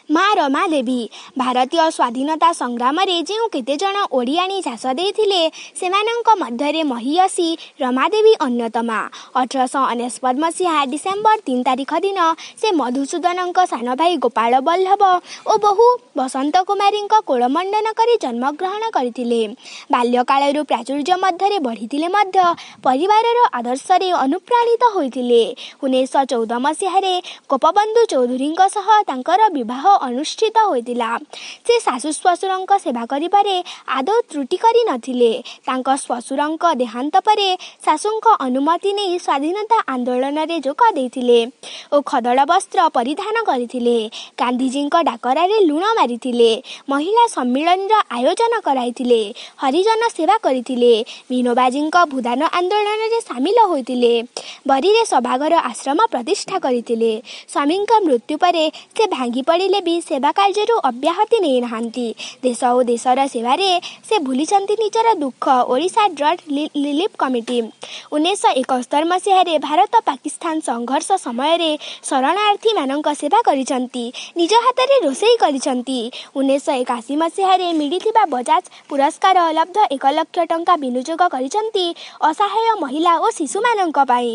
ମା ରମାଦେବୀ। ଭାରତୀୟ ସ୍ୱାଧୀନତା ସଂଗ୍ରାମରେ ଯେଉଁ କେତେଜଣ ଓଡ଼ିଆଣୀ ଝାସ ଦେଇଥିଲେ, ସେମାନଙ୍କ ମଧ୍ୟରେ ମହିୟସୀ ରମାଦେବୀ ଅନ୍ୟତମା। 1899 ମସିହା ଡିସେମ୍ବର 3 ତାରିଖ ଦିନ ସେ ମଧୁସୂଦନଙ୍କ ସାନଭାଇ ଗୋପାଳ ବଲ୍ଲଭ ଓ ବୋହୂ ବସନ୍ତ କୁମାରୀଙ୍କ କୋଳମଣ୍ଡନ କରି ଜନ୍ମଗ୍ରହଣ କରିଥିଲେ। ବାଲ୍ୟକାଳରୁ ପ୍ରାଚୁର୍ଯ୍ୟ ମଧ୍ୟରେ ବଢ଼ିଥିଲେ ମଧ୍ୟ ପରିବାରର ଆଦର୍ଶରେ ଅନୁପ୍ରାଣିତ ହୋଇଥିଲେ। 1914 ମସିହାରେ ଗୋପବନ୍ଧୁ ଚୌଧୁରୀଙ୍କ ସହ ତାଙ୍କର ବିବାହ ଅନୁଷ୍ଠିତ ହୋଇଥିଲା। ସେ ଶାଶୁ ଶ୍ୱଶୁରଙ୍କ ସେବା କରିବାରେ ଆଦୌ ତ୍ରୁଟି କରି ନଥିଲେ। ତାଙ୍କ ଶ୍ୱଶୁରଙ୍କ ଦେହାନ୍ତ ପରେ ଶାଶୁଙ୍କ ଅନୁମତି ନେଇ ସ୍ୱାଧୀନତା ଆନ୍ଦୋଳନରେ ଯୋଗ ଦେଇଥିଲେ ଓ ଖଦଡ଼ ବସ୍ତ୍ର ପରିଧାନ କରିଥିଲେ। ଗାନ୍ଧିଜୀଙ୍କ ଡାକରାରେ ଲୁଣ ମାରିଥିଲେ। ମହିଳା ସମ୍ମିଳନୀର ଆୟୋଜନ କରାଇଥିଲେ। ହରିଜନ ସେବା କରିଥିଲେ। ବିନୋବାଜୀଙ୍କ ଭୂଦାନ ଆନ୍ଦୋଳନରେ ସାମିଲ ହୋଇଥିଲେ। ବରୀରେ ସଭାଘର ଆଶ୍ରମ ପ୍ରତିଷ୍ଠା କରିଥିଲେ। ସ୍ୱାମୀଙ୍କ ମୃତ୍ୟୁ ପରେ ସେ ଭାଙ୍ଗି ପଡ଼ିଲେ ବି ସେବା କାର୍ଯ୍ୟରୁ ଅବ୍ୟାହତି ନେଇନାହାନ୍ତି। ଦେଶ ଓ ଦେଶର ସେବାରେ ସେ ଭୁଲିଛନ୍ତି ନିଜର ଦୁଃଖ। Odisha drought relief committee. 1971 ମସିହାରେ ଭାରତ ପାକିସ୍ତାନ ସଂଘର୍ଷ ସମୟରେ ଶରଣାର୍ଥୀମାନଙ୍କ ସେବା କରିଛନ୍ତି। ନିଜ ହାତରେ ରୋଷେଇ କରିଛନ୍ତି। 1981 ମସିହାରେ ମିଳିଥିବା ବଜାଜ ପୁରସ୍କାର ଲବ୍ଧ 1 ଲକ୍ଷ ଟଙ୍କା ବିନିଯୋଗ କରିଛନ୍ତି ଅସହାୟ ମହିଳା ଓ ଶିଶୁମାନଙ୍କ ପାଇଁ।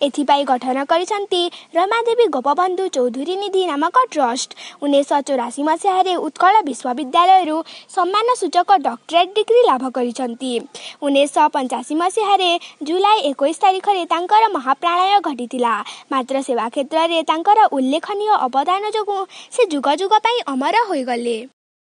ଏଥିପାଇଁ ଗଠନ କରିଛନ୍ତି ରମାଦେବୀ ଗୋପବନ୍ଧୁ ଚୌଧୁରୀ ନିଧି ନାମକ ଟ୍ରଷ୍ଟ। 1984 ମସିହାରେ ଉତ୍କଳ ବିଶ୍ୱବିଦ୍ୟାଳୟରୁ ସମ୍ମାନସୂଚକ ଡକ୍ଟରେଟ୍ ଡିଗ୍ରୀ ଲାଭ କରିଛନ୍ତି। 1985 ମସିହାରେ ଜୁଲାଇ 21 ତାରିଖରେ ତାଙ୍କର ମହାପ୍ରଳୟ ଘଟିଥିଲା। ମାତ୍ର ସେବା କ୍ଷେତ୍ରରେ ତାଙ୍କର ଉଲ୍ଲେଖନୀୟ ଅବଦାନ ଯୋଗୁଁ ସେ ଯୁଗ ଯୁଗ ପାଇଁ ଅମର ହୋଇଗଲେ।